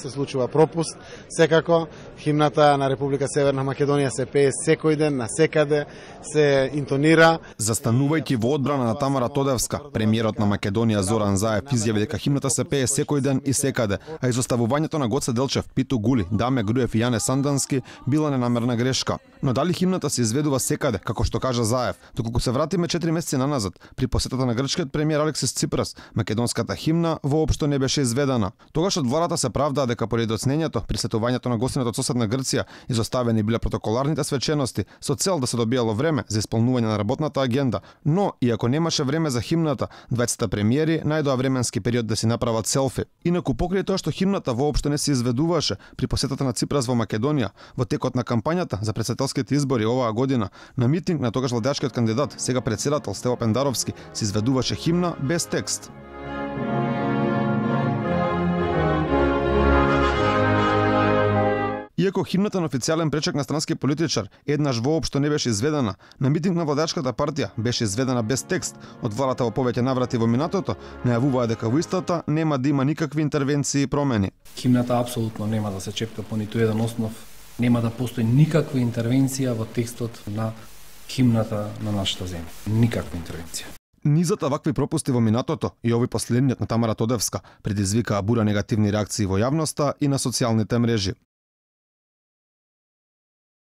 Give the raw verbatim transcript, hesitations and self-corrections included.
Се случува пропуст, секако химната на Република Северна Македонија се пее секој ден, на секаде се интонира. Застанувајќи во одбрана на Тамара Тодевска, премиерот на Македонија Зоран Заев изјави дека химната се пее секој ден и секаде, а изоставувањето на Гоце Делчев, Питу Гули, Даме Груев и Јане Сандански била ненамерна грешка. Но дали химната се изведува секаде, како што кажа Заев, доколку се вратиме четири месеци наназад, при посетата на грчкиот премиер Алексис Ципрас, македонската химна воопшто не беше изведена. Тогаш од владата се правдаа дека поради оцнењето при сетувањето на гостината од соседна Грција изоставени биле протоколарните свечености со цел да се добијало време за исполнување на работната агенда, но иако немаше време за химната, двајцата премиери најдоа временски период да си направат селфи. Инаку покрај тоа што химната воопшто не се изведуваше при посетата на Ципрас во Македонија, во текот на кампањата за претседателските избори оваа година, на митинг на тогаш владеачкиот кандидат, сега претседател Стево Пендаровски, се изведуваше химна без текст. Иако химната на официјален пречек на странски политичар еднаш воопшто не беше изведена, на митинг на владеачката партија беше изведена без текст. Од владата во повеќе наврати во минатото најавуваа дека во истата нема да има никакви интервенции и промени. Химната апсолутно нема да се чепка по ниту еден основ, нема да постои никаква интервенција во текстот на химната на нашата земја. Никаква интервенција. Низата вакви пропусти во минатото и овој последниот на Тамара Тодевска предизвикаа бура негативни реакции во јавноста и на социјалните мрежи.